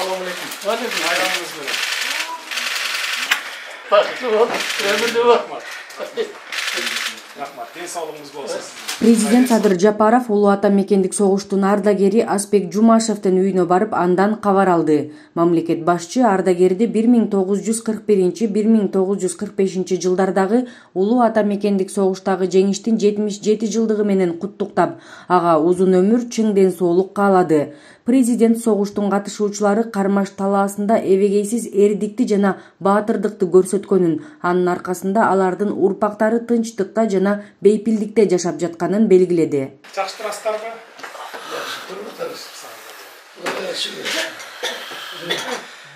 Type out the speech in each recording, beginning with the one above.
Assalomu alaykum. Bayramınız bilan. Бақытты бол, өмірлі бол. Рахмат. Денсаулығыңыз болсын. Президент Садыр Жапаров Улуу Ата мекендик согуштун ардагери Аспек Жумашевдин үйүнө барып андан кабар алды. Мамлекет башчы ардагерди 1941-1945 жылдардагы Улуу Ата мекендик согуштагы жеңиштин 77 жылдыгы менен куттуктап, ага узун өмүр, чың ден соолук каалады. Президент согуштун катышуучулары Кармаш талаасында эбегейсиз эрдикти жана баатырдыкты көрсөткөнүн, анын аркасында алардын урпактары тынчтыкта жана бейпилдикте жашап жатканын белгиледи. Жакшы турасыздарбы?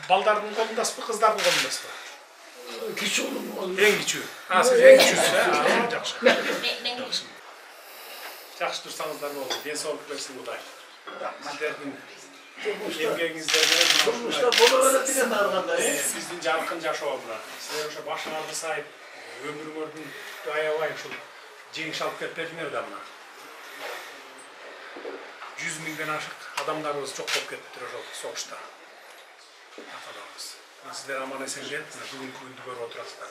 Балдардын колундасызбы, кыздардын колундасызбы? Кичүү болом. Эң кичүү. Сиз эң кичүүсүз, жакшы. Жакшы турсаңыздар болду. Денсаулык берсин Кудай. Сиздердин эмгегиңиздер менен биздин жаркын жашоо мына. Силер ошо башыңарды сайып, өмүрүңөрдүн аябай ушул жеңиш алып келип бердиңер да мына. 100 миңден ашык адамдарыбыз жок болуп кетиптир ошол согушта. Аталарыбыз. Сиздер аман эсен келип, бүгүнкү күндү көрүп отурасыздар.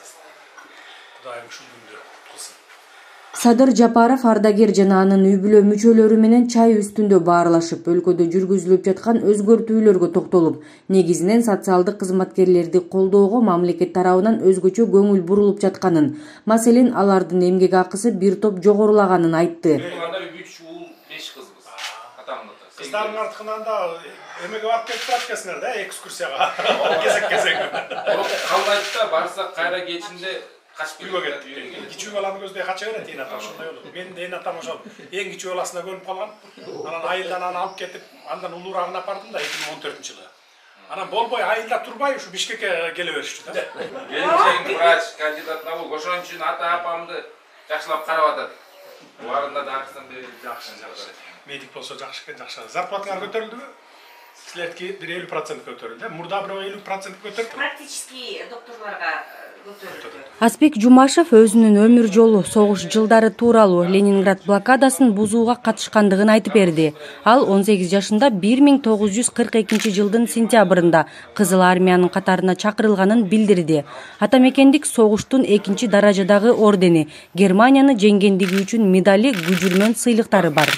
Кудайым ушул күндү кылсын. Садыр Жапаров ардагер жана анын үй бүлө мүчөлөрү менен чай үстүндө баарлашып, өлкөдө жүргүзүлүп жаткан өзгөртүүлөргө токтолуп, негизинен социалдык кызматкерлерди колдоого мамлекет тарабынан өзгөчө көңүл бурулуп жатканын, маселен алардын эмгек акысы бир топ жогорулаганын айтты. 3 уул 5 кызбыз. Атамда. Кыздардын артынан да эмеге барып кетип турат экенсиңер да, экскурсияга. Кезек-кезек. Калбайт да, барсак кайра кечинде качып үйгө кетти. Кичүү баланы көздөй кача берет эне ата, ошондой болду. Менин эне атам ошол эң кичүү баласына көнүп калган. Анан айылдан аны алып кетип, андан улуурагына апардым да 2014-жылы. Анан болбой айылда турбай ушу Бишкекке келе беришти да. Келинчегим врач, кандидат наук, ошон үчүн ата-апамды жакшылап карап атат. Буларында да акысын берип жакшы. Медик болсо жакшы экен, жакшы. Зарплатаңар көтөрүлдүбү? Силердики бир 50% көтөрүлдү. Мурда бирөө 50% көтөрүп. Практически докторлорго Аспек Жумашев өзүнүн өмүр жолу, согуш жылдары тууралуу Ленинград блокадасын бузууга катышкандыгын айтып берди. Ал 18 жашында 1942 жылдын сентябрында Кызыл армиянын катарына чакырылганын билдирди. Ата мекендик согуштун 2 даражадагы ордени, Германияны жеңгендиги үчүн медали, күжүрмөн сыйлыктары бар.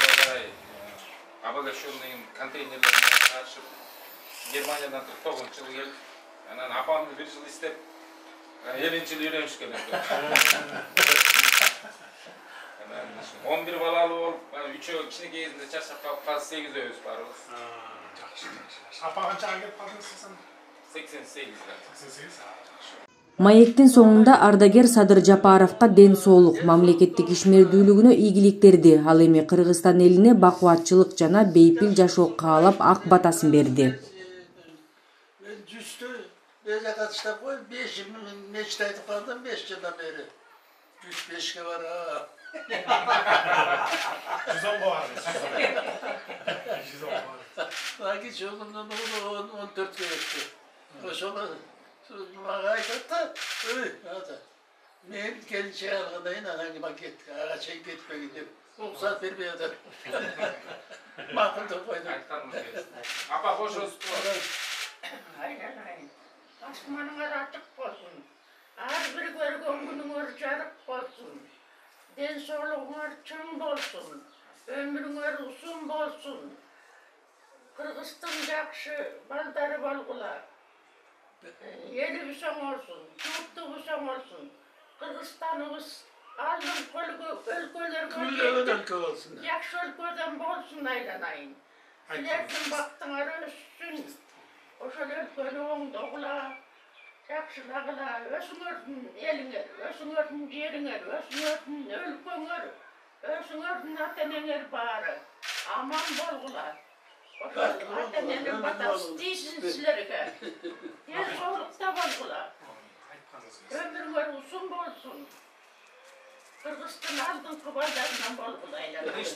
Германиядан 49-жылы келип, анан апамды бир жыл иштеп, 7-жыл үйрөнүшкө келем. 11 балалуу болуп, 3-өө кичинекей кезинде чарчап калып, азыр 8-өөбүз барбыз. Жакшы. Апа канчага келип калдыңыз сиз? 88-да. 88. Маектин соңунда ардагер Садыр Жапаровго ден соолук, мамлекеттик ишмердүүлүгүнө ийгиликтерди, ал эми Кыргызстан элине бакубатчылык жана бейпил жашоо каалап ак батасын берди. Беже катыштап кой, 5 мечт айтып калдым 5 жылдан бери. 3-5ке бар. 110 бар. 110 бар. Аки чоğundan 14'ke geçti. Ошол мага айтат да, мен келинчек алгандайын анан макет ага чейин кетпегин деп уруксат бербей атат. Макул деп койдум. Апа кошосузбу? Асманыңар ачык болсун. Ар бир көргөн күнүңөр жарык болсун. Ден соолугуңар чың болсун. Өмүрүңөр узун болсун. Кыргыздын жакшы балдары болгула. Элибиз оңолсун, журтубуз оңолсун. Кыргызстаныбыз алдыңкы өлкөлөргө жакшы өлкөдөн болсун айланайын. Силердин бактыңар өссүн. Ошол өлкөнү оңдогула, жакшылагыла, өзүңөрдүн элиңер, өзүңөрдүн жериңер, өзүңөрдүн өлкөңөр, өзүңөрдүн ата-энеңер баары аман болгула. Ошол ата-эненин батасы тийсин силерге. Ден соолукта болгула. Өмүрүңөр узун болсун. Кыргыздын алдыңкы балдарынан болгула айланайын.